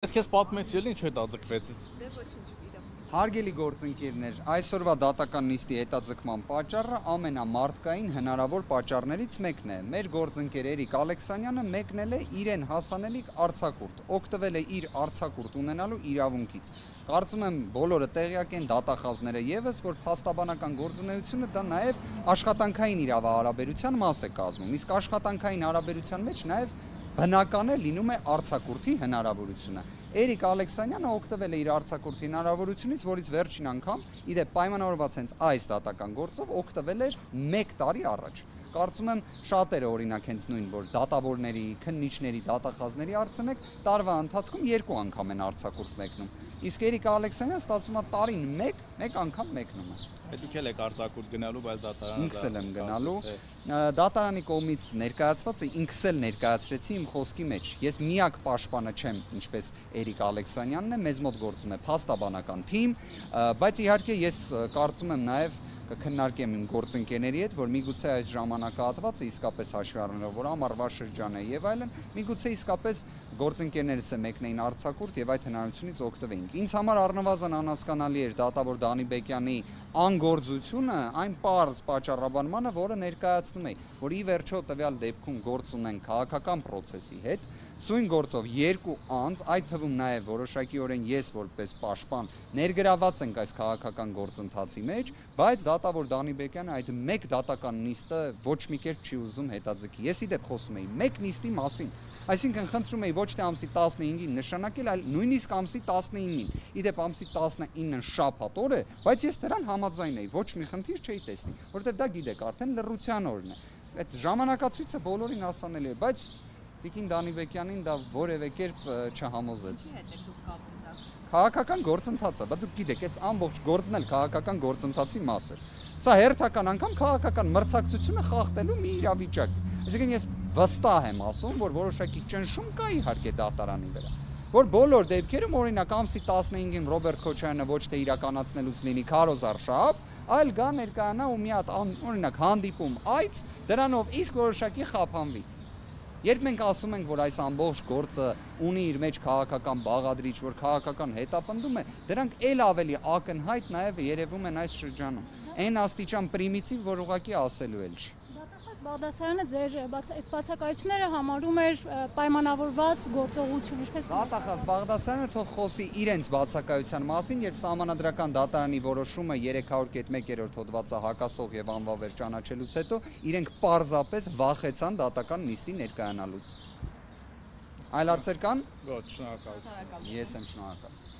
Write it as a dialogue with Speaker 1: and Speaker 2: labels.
Speaker 1: Ես քեզ պատմեցի էլի ինչ հետաձգվեցից։
Speaker 2: Հարգելի գործընկերներ, այսօրվա դատական նիստի հետաձգման պատճառը ամենամարդկային հնարավոր պատճառներից մեկն է։ Մեր գործընկեր Էրիկ Ալեքսանյանը մեկնել է իրեն հասանելիք արձակուրդ, օգտվել է իր արձակուրդ ունենալու իրավունքից։ Կարծում եմ բոլորը տեղյակ են, դատախազները եւս, որ փաստաբանական գործունեությունը դա նաեւ աշխատանքային իրավահարաբերության մաս է կազմում։ Իսկ աշխատանքային հարաբերության մեջ նաեւ բնական է լինում է արձակուրդի հնարավորությունը։ Էրիկ Ալեքսանյանը օգտվել է իր արձակուրդի հնարավորությունից, որից վերջին անգամ իդեպ պայմանավորված հենց այս դատական գործով օգտվել էր 1 տարի առաջ։ Կարծում եմ շատերը օրինակ հենց նույն, որ դատավորների, քննիչների, դատախազների հարցնեք, տարվա ընթացքում 2 անգամ են արձակուրդ մեկնում։ Իսկ Էրիկ Ալեքսանյանը ստացվում է տարին 1 անգամ մեկնում է։
Speaker 1: Դուք էլ եք արձակուրդ գնալու, բայց դատարանը
Speaker 2: ինքս եմ գնալու։ Դատարանի կողմից ներկայացված է, ինքս էլ ներկայացրեցի իմ խոսքի մեջ։ Ես միակ պաշտպանը չեմ, ինչպես Էրիկ Ալեքսանյանն է, մեզ մոտ գործում է փաստաբանական թիմ, բայց իհարկե ես կարծում եմ նաև կքննարկեմ իմ գործընկերների հետ, որ միգուցե այս ժամանակահատվածը իսկապես հաշվի առնելով, որ ամառվա շրջան է եւ այլն, միգուցե իսկապես գործընկերներս է մեկնեին արձակուրդ եւ այդ հնարավորությունից օգտվեինք։ Ինձ համար առնվազն անհասկանալի էր դատավոր Դանիբեկյանի անգործությունը այն պարզ պատճառաբանմանը, որը ներկայացնում է, որ ի վերջո տվյալ դեպքում գործ ունեն քաղաքական process-ի հետ, սույն գործով 2 անձ, այդ թվում նաև որոշակիորեն ես որպես պաշտպան ներգրաված ենք այս քաղաքական գործընթացի մեջ, բայց դատավոր Դանիբեկյանը այդ 1 դատական նիստը ոչ մի կերպ չի ուզում հետաձգի։ Ես իդեպ խոսում էի 1 նիստի մասին, այսինքն խնդրում էի ոչ թե ամսի 15-ին նշանակել, այլ նույնիսկ ամսի 19-ին։ Իդեպ ամսի 19-ն շաբաթ օր է, բայց ես դրան համաձայն էի, ոչ մի խնդիր չէի տեսնի, որովհետև դա գիտեք, արդեն լռության օրն է։ Այդ ժամանակացույցը բոլորին հասանելի է, բայց Տիկին Դանիբեկյանին դա որևէ կերպ չհամոզեց։ Քաղաքական գործընթացը, բայց դուք գիտեք, այս ամբողջ գործն էլ քաղաքական գործընթացի մաս էր։ Սա հերթական անգամ քաղաքական մրցակցությունը խախտելու մի իրավիճակ է։ Այսինքն ես վստահ եմ ասում, որ որոշակի ճնշում կա իհարկե դատարանի վրա, որ բոլոր դեպքերում օրինակ ամսի 15-ին Ռոբերտ Քոչարյանը ոչ թե իրականացնելուց լինի քարոզարշավ, այլ գա ներկայանա ու մի հատ օրինակ հանդիպում այց, դրանով իսկ որոշակի խափանվի։ Երբ մենք ասում ենք, որ այս ամբողջ գործը ունի իր մեջ քաղաքական բաղադրիչ, որ քաղաքական հետապնդում է, դրանք ել ավելի ակնհայտ նաև երևում են այս շրջանում։ Այն աստիճան պրիմիտիվ, որ ուղղակի ասելու էլ չի։
Speaker 3: Դատախազ Բաղդասարյանը ձեր բացակայությունները համարում էր պայմանավորված գործողություն, ինչպես
Speaker 2: Դատախազ Բաղդասարյանը թող խոսի իրենց բացակայության մասին, երբ Սահմանադրական դատարանի որոշումը 301-րդ հոդվածը հակասող եւ անվավեր ճանաչելուց հետո իրենք պարզապես վախեցան դատական նիստի ներկայանալուց։ Այլ հարցեր կան։
Speaker 1: Ոչ, շնորհակալություն։
Speaker 2: Ես եմ շնորհակալ։